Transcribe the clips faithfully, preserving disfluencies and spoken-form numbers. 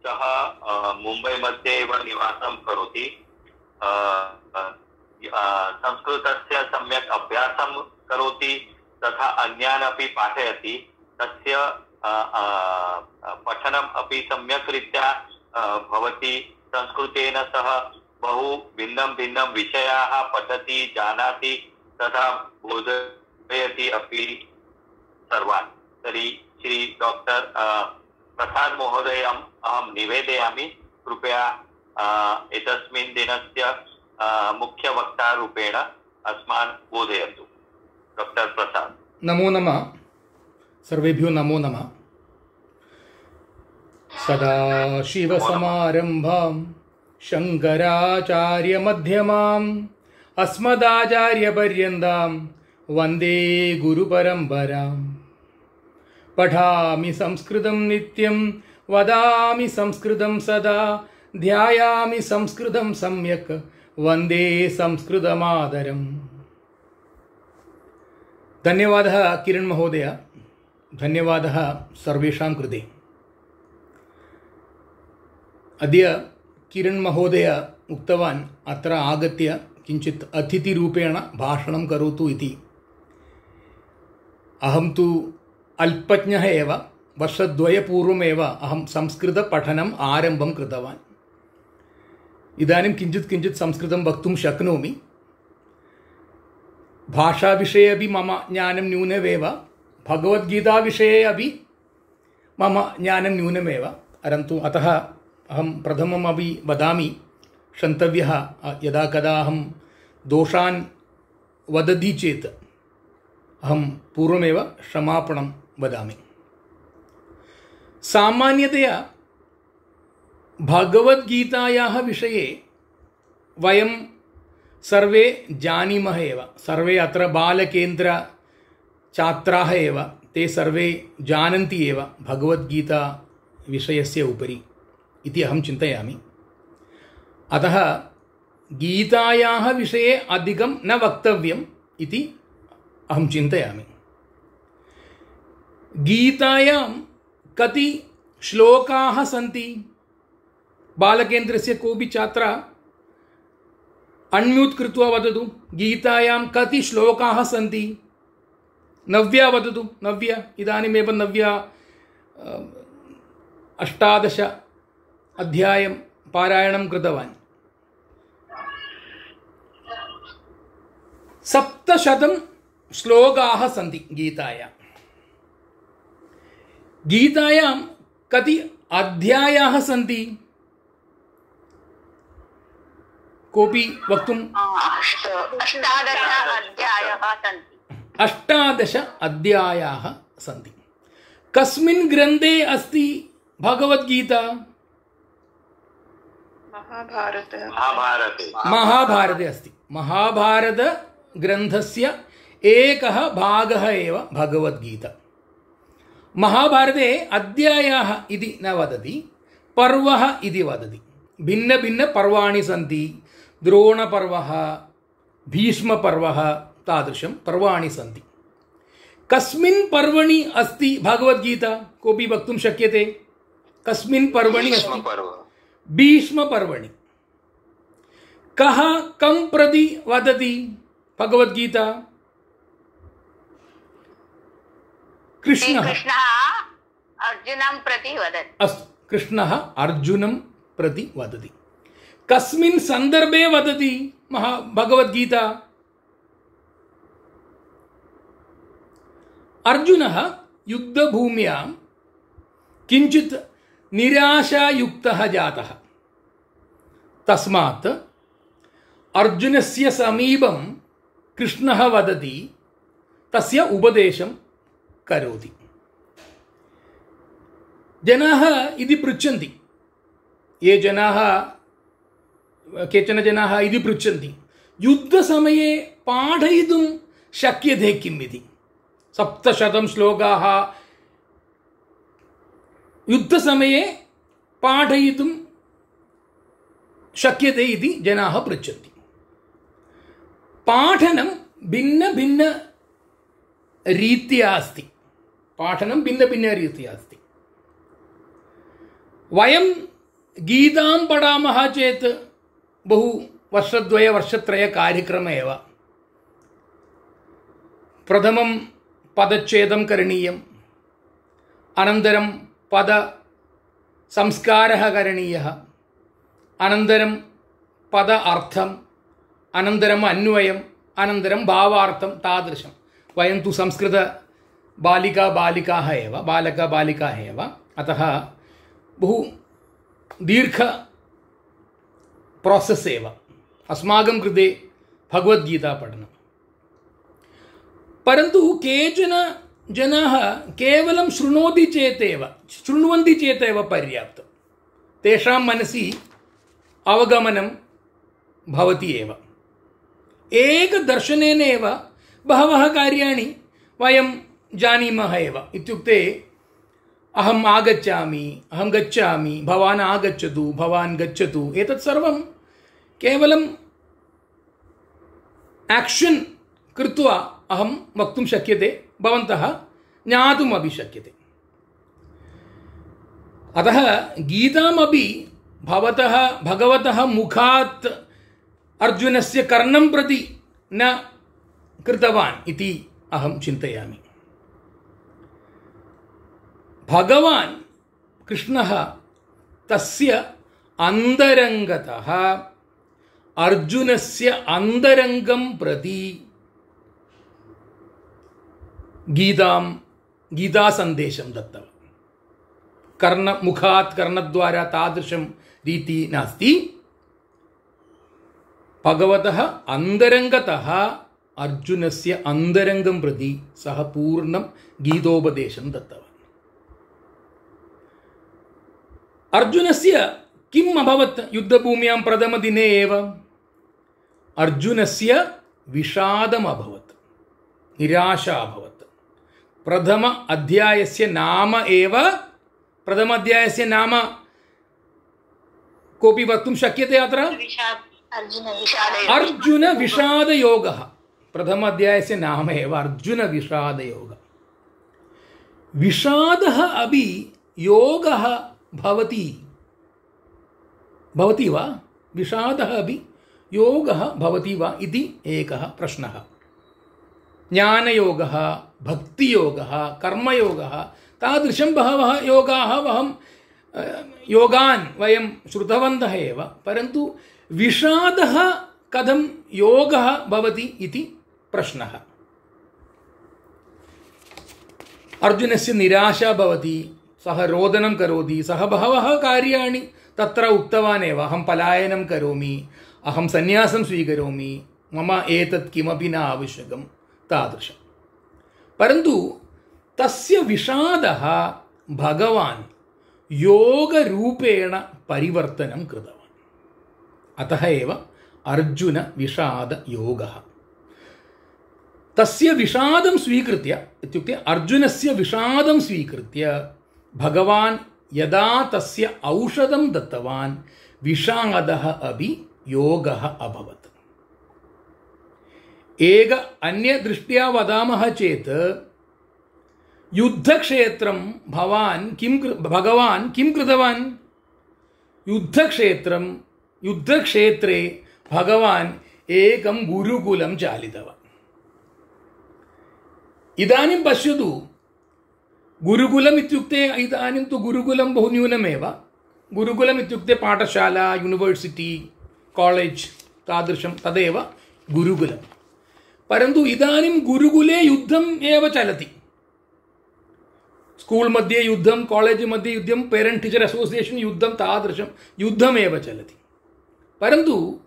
सः मुम्बै मध्ये एव निवासं करोति। संस्कृतस्य सम्यक् अभ्यासं करोति तथा अन्यान् अपि पाठयति। तस्य पठनम् अपि सम्यक् रीत्या भवति। संस्कृतेन सह बहु भिन्नं भिन्नं विषयाः पठति, जानाति तथा बोधयति अपि सर्वान्। तर्हि श्री डॉक्टर प्रसाद महोदयम् अहं निवेदयामि, कृपया एतस्मिन् दिनस्य मुख्य वक्तारूपेण अस्मान् बोधयतु। डॉक्टर प्रसाद। नमो नमः। सर्वेभ्यो नमो नमः। सदाशिवसमारम्भां शङ्कराचार्यमध्यमाम् अस्मदाचार्यपर्यन्तां वन्दे गुरुपरम्पराम्। पठामि संस्कृतं नित्यं वदामि संस्कृतं सदा ध्यायामि संस्कृतं सम्यक् वन्दे संस्कृतमादरम्। धन्यवादः किरण महोदय, धन्यवादः सर्वेषां कृते। अद्य किरण महोदय उक्तवान् अत्र आगत्य किञ्चित् अतिथिरूपेण भाषणं करोतु इति। अहं तु अल्पज्ञः एव। वर्षद्वयपूर्वमेव अहं संस्कृतपठनम् आरम्भं कृतवान्। इदानीं किञ्चित् किञ्चित् संस्कृतं वक्तुं शक्नोमि। भाषाविषये अपि मम ज्ञानं न्यूनमेव, भगवद्गीताविषये अपि मम ज्ञानं न्यूनमेव। परन्तु अतः अहं प्रथममपि वदामि, क्षन्तव्यः यदा कदा अहं दोषान् वदति चेत् अहं पूर्वमेव क्षमापणं वदामि। सामान्यतया भगवद्गीतायाः विषये वयं सर्वे जानीमः एव। सर्वे अत्र बालकेन्द्रछात्राः एव, ते सर्वे जानन्ति एव भगवद्गीता विषयस्य उपरि इति अहं चिन्तयामि। अतः गीतायाः विषये अधिकं न वक्तव्यम् इति अहं चिन्तयामि। गीतायां कति श्लोकाः सन्ति? बालकेन्द्रस्य कोऽपि छात्रः अण्म्यूट् कृत्वा वदतु, गीतायां कति श्लोकाः सन्ति? नव्या वदतु। नव्या इदानीमेव नव्या अष्टादश अध्यायं पारायणं कृतवान्। सप्तशतं श्लोकाः सन्ति गीतायां। गीतायां कति अध्यायाः सन्ति? कोऽपि वक्तुं? अष्टादश अध्यायाः सन्ति। कस्मिन् ग्रन्थे अस्ति भगवद्गीता? महाभारते महाभारते अस्ति। महाभारतग्रन्थस्य एकः भागः एव भगवद्गीता। महाभारते अध्यायाः इति न वदति, पर्वः इति वदति। भिन्नभिन्नपर्वाणि सन्ति। द्रोणपर्वः, भीष्मपर्वः, तादृशं पर्वाणि सन्ति। कस्मिन् पर्वणि अस्ति भगवद्गीता? कोऽपि वक्तुं शक्यते? कस्मिन् पर्वणि अस्ति? भीष्मपर्वणि। कः कं प्रति वदति भगवद्गीता? कृष्णः अर्जुनं प्रति वदति। अस्तु, कृष्णः अर्जुनं प्रति वदति। कस्मिन् सन्दर्भे वदति महा भगवद्गीता? अर्जुनः युद्धभूम्यां किञ्चित् निराशायुक्तः जातः। तस्मात् अर्जुनस्य समीपं कृष्णः वदति, तस्य उपदेशं करोति। जनाः इति पृच्छन्ति, ये जनाः केचन जनाः इति पृच्छन्ति, युद्धसमये पाठयितुं शक्यते किम् इति? सप्तशतं श्लोकाः युद्धसमये पाठयितुं शक्यते इति जनाः पृच्छन्ति। पाठनं भिन्नभिन्नरीत्या अस्ति। पाठनं भिन्नभिन्नरीत्या अस्ति। वयं गीतां पठामः चेत् बहु वर्षद्वय वर्षत्रय कार्यक्रमः एव। प्रथमं पदच्छेदं करणीयम्, अनन्तरं पद संस्कारः करणीयः, अनन्तरं पद अर्थम्, अनन्तरम् अन्वयम्, अनन्तरं भावार्थं, तादृशं। वयं तु संस्कृत बालिका बालिकाः एव बालका बालिकाः एव, अतः बहु दीर्घ प्रोसेस् एव अस्माकं कृते भगवद्गीता पठनं। परन्तु केचन जनाः केवलं शृणोति चेतेव शृण्वन्ति चेतेव पर्याप्तं, तेषां मनसि अवगमनं भवति एव। एकदर्शनेन एव बहवः कार्याणि वयं जानीमः एव। इत्युक्ते अहम् आगच्छामि, अहं गच्छामि, भवान् आगच्छतु, भवान् गच्छतु, एतत् सर्वं केवलं आक्षन् कृत्वा अहं वक्तुं शक्यते, भवन्तः ज्ञातुमपि शक्यते। अतः गीतामपि भवतः भगवतः मुखात् अर्जुनस्य कर्णं प्रति न कृतवान् इति अहं चिन्तयामि। भगवान् कृष्णः तस्य अन्तरङ्गतः अर्जुनस्य अन्तरङ्गं प्रति गीतां गीतासन्देशं दत्तवान्। कर्णमुखात् कर्णद्वारा तादृशं रीति नास्ति, भगवतः अन्तरङ्गतः अर्जुनस्य अन्तरङ्गं प्रति सः पूर्णं गीतोपदेशं दत्तवान्। अर्जुनस्य किम् अभवत् युद्धभूम्यां प्रथमदिने एव? अर्जुनस्य विषादम् अभवत्, निराशा अभवत्। प्रथम अध्यायस्य नाम एव प्रथम अध्यायस्य नाम कोऽपि वक्तुं शक्यते अत्र? अर्जुन विषादयोगः। प्रथम अध्यायस्य नाम एव अर्जुन विषादयोगः। विषादः अपि योगः भवति भवति वा? विषादः अपि योगः भवति वा इति एकः प्रश्नः। ज्ञानयोगः, भक्तियोगः, कर्मयोगः, तादृशं बहवः योगाः वयं योगान् वयं श्रुतवन्तः एव। परन्तु विषादः कथं योगः भवति इति प्रश्नः। अर्जुनस्य निराशा भवति, सः रोदनं करोति, सः बहवः कार्याणि तत्र उक्तवान् एव। अहं पलायनं करोमि, अहं सन्यासं स्वीकरोमि, मम एतत् किमपि न आवश्यकं, तादृशं। परन्तु तस्य विषादः भगवान् योगरूपेण परिवर्तनं कृतवान्। अतः एव अर्जुन विषादयोगः। तस्य विषादं स्वीकृत्य, इत्युक्ते अर्जुनस्य विषादं स्वीकृत्य भगवान् यदा तस्य औषधं दत्तवान्, विषादः अपि योगः अभवत्। एक अन्यदृष्ट्या वदामः चेत् युद्धक्षेत्रं भवान् किं भगवान् किं कृतवान्? युद्धक्षेत्रं युद्धक्षेत्रे भगवान् एकं गुरुकुलं चालितवान्। इदानीं पश्यतु, गुरुकुलम् इत्युक्ते इदानीं तु गुरुकुलं बहु न्यूनमेव। गुरुकुलम् इत्युक्ते पाठशाला, यूनिवर्सिटी, कालेज्, तादृशं तदेव गुरुकुलं। परन्तु इदानीं गुरुकुले युद्धम् एव चलति। स्कूल् मध्ये युद्धं, कालेज् मध्ये युद्धं, पेरेण्ट् टीचर् असोसियेशन् युद्धं, तादृशं युद्धमेव चलति। परन्तु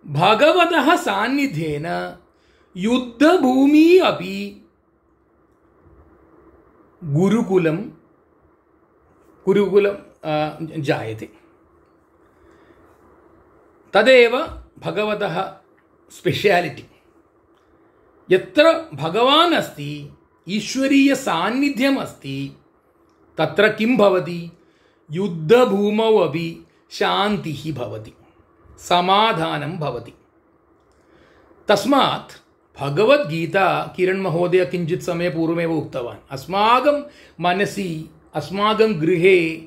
भगवतः सान्निध्येन युद्धभूमि अपि गुरुकुलं गुरुकुलं जायते। तदेव भगवतः स्पेशालिटी। यत्र भगवान् अस्ति, ईश्वरीय सान्निध्यम् अस्ति, तत्र किं भवति? युद्धभूमौ अपि शान्तिः भवति, समाधानं भवति। तस्मात् भगवद्गीता किरण్ महोदय किञ्चित् समयपूर्वमेव उक्तवान्, अस्माकं मनसि, अस्माकं गृहे,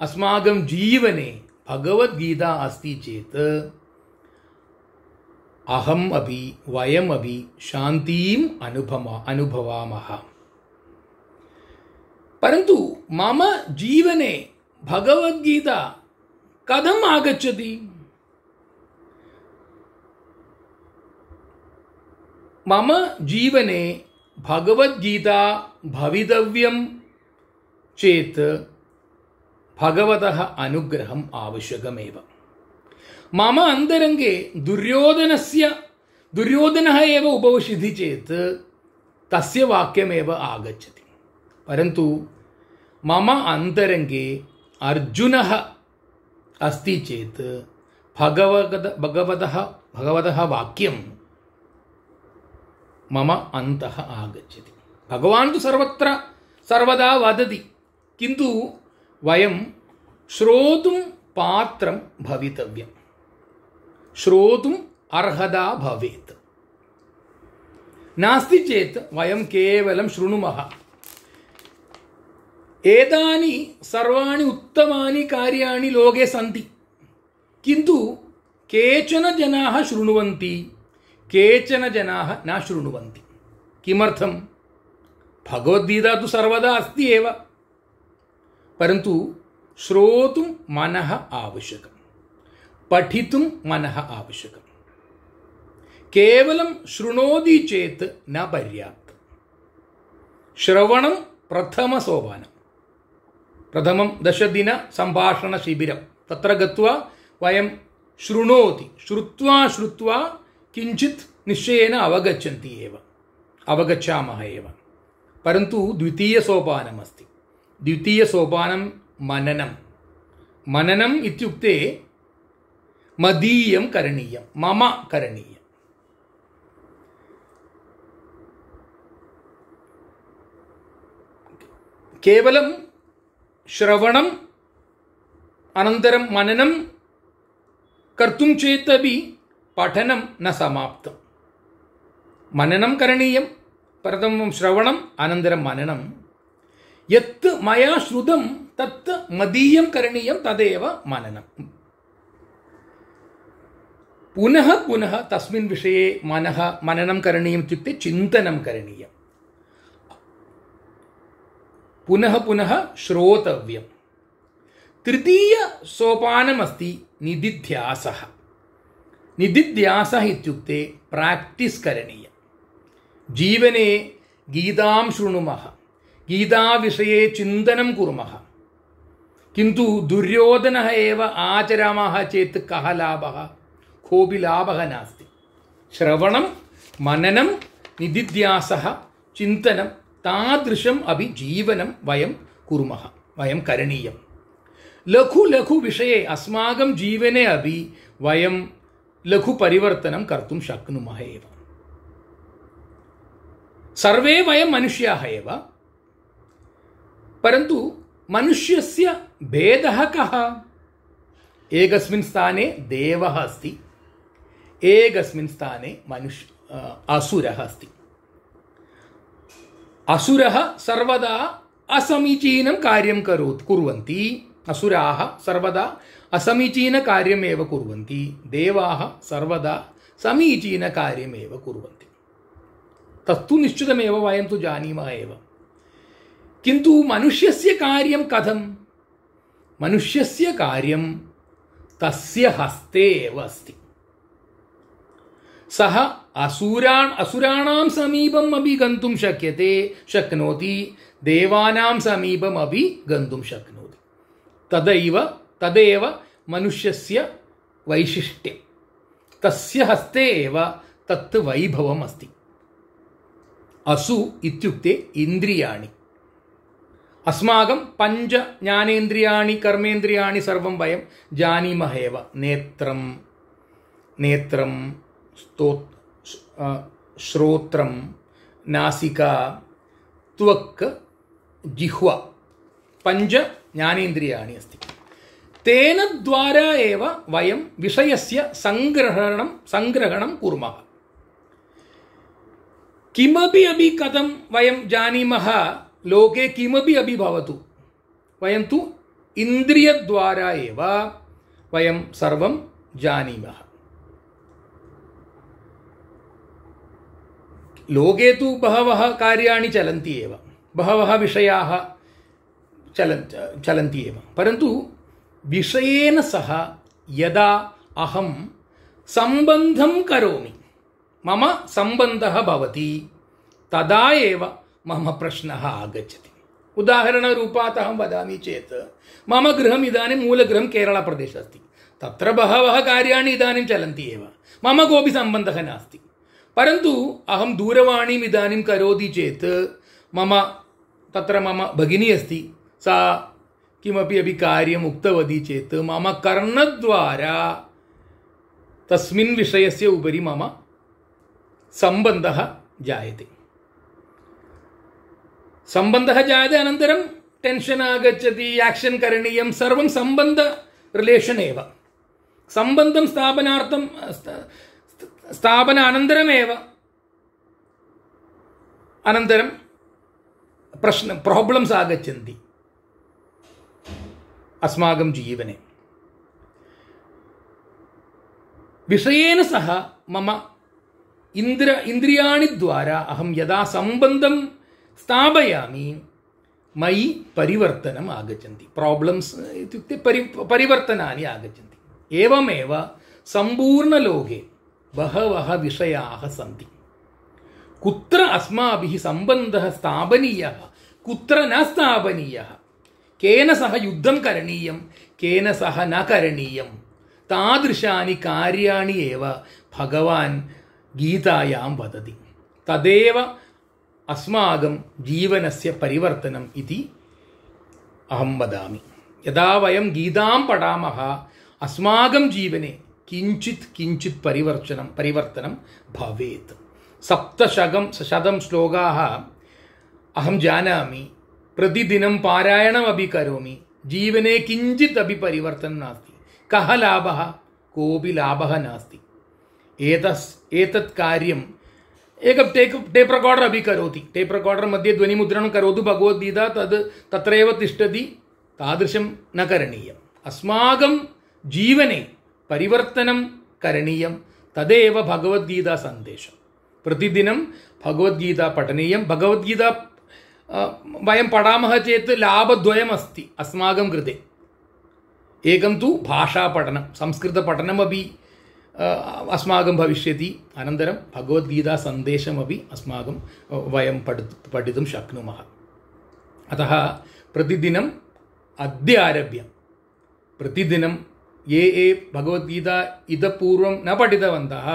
अस्माकं जीवने भगवद्गीता अस्ति चेत् अहम् अपि वयमपि शान्तिम् अनुभवा अनुभवामः। परन्तु मम जीवने भगवद्गीता कथम् आगच्छति? मम जीवने भगवद्गीता भवितव्यं चेत् भगवतः अनुग्रहम् आवश्यकमेव। मम अन्तरङ्गे दुर्योधनस्य दुर्योधनः एव उपविशति चेत् तस्य वाक्यमेव आगच्छति। परन्तु मम अन्तरङ्गे अर्जुनः अस्ति चेत् भगवद भगवतः भगवतः वाक्यं मम अन्तः आगच्छति। भगवान् तु सर्वत्र सर्वदा वदति, किन्तु वयं श्रोतुं पात्रं भवितव्यं, श्रोतुम् अर्हता भवेत्। नास्ति चेत् वयं केवलं शृणुमः। एतानि सर्वाणि उत्तमानि कार्याणि लोके सन्ति, किन्तु केचन जनाः शृण्वन्ति, केचन जनाः न शृण्वन्ति। किमर्थं? भगवद्गीता तु सर्वदा अस्ति एव, परन्तु श्रोतुं मनः आवश्यकं, पठितुं मनः आवश्यकं। केवलं शृणोति चेत् न पर्याप्तं। श्रवणं प्रथमसोपानं। प्रथमं दशदिन सम्भाषणशिबिरं, तत्र गत्वा वयं शृणोति, श्रुत्वा श्रुत्वा किञ्चित् निश्चयेन अवगच्छन्ति एव, अवगच्छामः एव। परन्तु द्वितीयसोपानमस्ति। द्वितीयसोपानं मननं। मननम् इत्युक्ते मदीयं करणीयं, मम करणीयं। केवलं श्रवणम् अनन्तरं मननं कर्तुं चेदपि पठनं न समाप्तं। मननं करणीयं, प्रथमं श्रवणम् अनन्तरं मननं। यत् मया श्रुतं तत् मदीयं करणीयं, तदेव मननं। पुनः पुनः तस्मिन् विषये मनः मननं करणीयम् इत्युक्ते चिन्तनं करणीयं। पुनः पुनः श्रोतव्यं। तृतीयसोपानमस्ति निदिध्यासः। निदिध्यासः इत्युक्ते प्राक्टिस् करणीयं। जीवने गीतां शृणुमः, गीताविषये चिन्तनं कुर्मः, किन्तु दुर्योधनः एव आचरामः चेत् कः लाभः? कोऽपि लाभः नास्ति। श्रवणं, मननं, निदिध्यासः, चिन्तनं, तादृशम् अपि जीवनं वयं कुर्मः, वयं करणीयं। लघु लघु विषये अस्माकं जीवने अपि वयं लघु परिवर्तनं कर्तुं शक्नुमः एव। सर्वे वयं मनुष्याः एव, परन्तु मनुष्यस्य भेदः कः? एकस्मिन् स्थाने देवः अस्ति, एकस्मिन् स्थाने मनुष्य असुरः अस्ति। असुरः सर्वदा असमीचीनं कार्यं करोति कुर्वन्ति। असुराः सर्वदा असमीचीनकार्यमेव कुर्वन्ति, देवाः सर्वदा समीचीनकार्यमेव कुर्वन्ति। तत्तु निश्चितमेव, वयं तु जानीमः एव। किन्तु मनुष्यस्य कार्यं कथं? मनुष्यस्य कार्यं तस्य हस्ते एव अस्ति। सः असुरान् असुराणां समीपम् अपि गन्तुं शक्यते शक्नोति, देवानां समीपम् अपि गन्तुं शक्नोति। तदैव तदेव मनुष्यस्य वैशिष्ट्यं। तस्य हस्ते एव तत् वैभवम् अस्ति। असु इत्युक्ते इन्द्रियाणि। अस्माकं पञ्च ज्ञानेन्द्रियाणि, कर्मेन्द्रियाणि सर्वं वयं जानीमः एव। नेत्रं नेत्रं स्तो श्रोत्रं, नासिका, त्वक्, जिह्वा, पञ्च ज्ञानेन्द्रियाणि अस्ति। तेन द्वारा एव वयं विषयस्य सङ्ग्रहणं सङ्ग्रहणं कुर्मः। किमपि अपि कथं वयं जानीमः, लोके किमपि अपि भवतु, वयं तु इन्द्रियद्वारा एव वयं सर्वं जानीमः। लोके तु बहवः कार्याणि चलन्ति एव, बहवः विषयाः चलन् चलन्ति एव, परन्तु विषयेन सह यदा अहं सम्बन्धं करोमि, मम सम्बन्धः भवति, तदा एव मम प्रश्नः आगच्छति। उदाहरणरूपात् अहं वदामि चेत् मम गृहम् इदानीं मूलगृहं केरळप्रदेशे अस्ति, तत्र बहवः कार्याणि इदानीं चलन्ति एव, मम कोऽपि सम्बन्धः नास्ति, परन्तु अहं दूरवाणीम् इदानीं करोति चेत् मम तत्र मम भगिनी अस्ति, सा किमपि अपि कार्यम् उक्तवती चेत् मम कर्णद्वारा तस्मिन् विषयस्य उपरि मम सम्बन्धः जायते सम्बन्धः जायते अनन्तरं टेन्शन् आगच्छति, याक्षन् करणीयं, सर्वं सम्बन्ध रिलेशन् एव। सम्बन्धं स्थापनार्थं स्थापन अनन्तरमेव अनन्तरं प्रश्न प्राब्लम्स् आगच्छन्ति अस्माकं जीवने। विषयेन सह मम इन्द्र इन्द्रियाणि द्वारा अहं यदा सम्बन्धं स्थापयामि मयि परिवर्तनम् आगच्छन्ति, प्राब्लम्स् इत्युक्ते परि परिवर्तनानि आगच्छन्ति। एवमेव सम्पूर्णलोके बहवः विषयाः सन्ति, कुत्र अस्माभिः सम्बन्धः स्थापनीयः, कुत्र न स्थापनीयः, केन सह युद्धं करणीयं, केन सह न करणीयं, तादृशानि कार्याणि एव भगवान् गीतायां वदति। तदेव अस्माकं जीवनस्य परिवर्तनम् इति अहं वदामि। यदा वयं गीतां पठामः अस्माकं जीवने किञ्चित् किञ्चित् परिवर्तनं परिवर्तनं भवेत्। सप्तशतं शतं श्लोकाः अहं जानामि, प्रतिदिनं पारायणमपि करोमि, जीवने किञ्चित् अपि परिवर्तनं नास्ति। कः लाभः? कोऽपि लाभः नास्ति। एतस् एतत् कार्यं एकं टेक् टेप् रेकार्डर् अपि करोति, टेप् रेकार्डर् मध्ये ध्वनिमुद्रणं करोतु भगवद्गीता, तद् तत्रैव तिष्ठति, तादृशं न करणीयम्। अस्माकं जीवने परिवर्तनं करणीयं, तदेव भगवद्गीता सन्देशं। प्रतिदिनं भगवद्गीता पठनीयं। भगवद्गीता वयं पठामः चेत् लाभद्वयमस्ति अस्माकं कृते। एकं तु भाषापठनं, संस्कृतपठनमपि अस्माकं भविष्यति, अनन्तरं भगवद्गीता सन्देशमपि अस्माकं वयं पठितुं पठितुं शक्नुमः। अतः प्रतिदिनम् अद्य आरभ्य प्रतिदिनं ये ये भगवद्गीता इतः पूर्वं न पठितवन्तः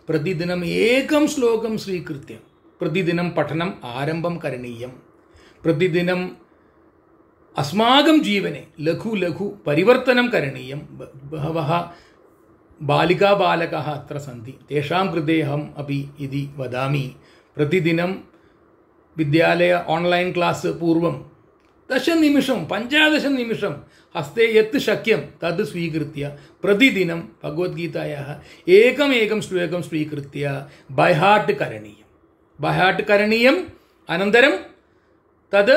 प्रतिदिनम् एकं श्लोकं स्वीकृत्य प्रतिदिनं पठनम् आरम्भं करणीयं। प्रतिदिनम् अस्माकं जीवने लघु लघु परिवर्तनं करणीयं। बहवः बालिका बालकाः अत्र सन्ति, तेषां कृते अहम् अपि इति वदामि, प्रतिदिनं विद्यालय आन्लैन् क्लास् पूर्वं दशनिमिषं पञ्चदशनिमिषं हस्ते यत् शक्यं तद् स्वीकृत्य प्रतिदिनं भगवद्गीतायाः एकमेकं श्लोकं स्वीकृत्य बै हार्ट् करणीयं बै हार्ट् करणीयम्। अनन्तरं तद्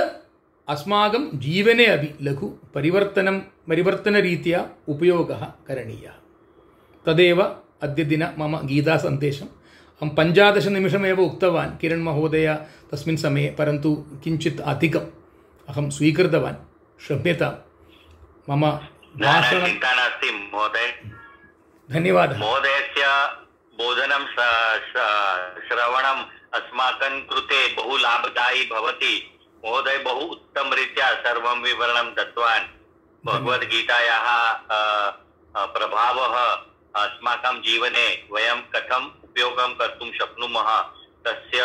अस्माकं जीवने अपि लघु परिवर्तनं परिवर्तनरीत्या उपयोगः करणीयः। तदेव अद्यदिन मम गीतासन्देशम्। अहं पञ्चदशनिमिषमेव उक्तवान् किరణ్ महोदय तस्मिन् समये, परन्तु किञ्चित् अधिकम् अहं स्वीकृतवान्, क्षम्यतां। मम भाषणं चिन्ता नास्ति महोदय। धन्यवादः। महोदयस्य बोधनं श्रवणम् अस्माकं कृते बहु लाभदायी भवति। महोदय बहु उत्तमरीत्या सर्वं विवरणं दत्तवान्। भगवद्गीतायाः प्रभावः अस्माकं जीवने वयं कथम् उपयोगं कर्तुं शक्नुमः, तस्य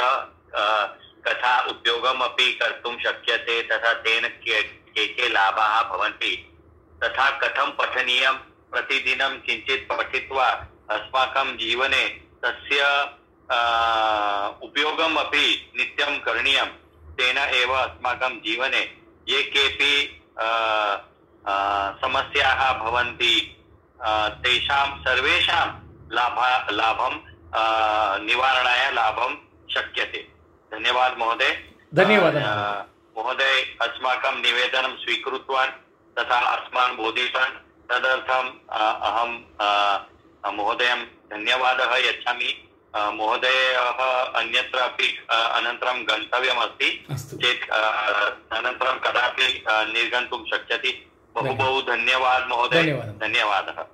कथा उपयोगम् अपि कर्तुं शक्यते, तथा तेन के के लाभाः भवन्ति, तथा कथं पठनीयं, प्रतिदिनं किञ्चित् पठित्वा अस्माकं जीवने तस्य उपयोगम् अपि नित्यं करणीयं। तेन एव अस्माकं जीवने ये केऽपि समस्याः भवन्ति तेषां सर्वेषां लाभ लाभं निवारणाय लाभं शक्यते। धन्यवादः महोदय। धन्यवादः महोदय अस्माकं निवेदनं स्वीकृतवान् तथा अस्मान् बोधितवान्। तदर्थम् अहं महोदयं धन्यवादः यच्छामि। महोदयः अन्यत्र अपि अनन्तरं गन्तव्यमस्ति चेत् अनन्तरं कदापि निर्गन्तुं शक्यति। बहु बहु धन्यवादः महोदय। धन्यवादः।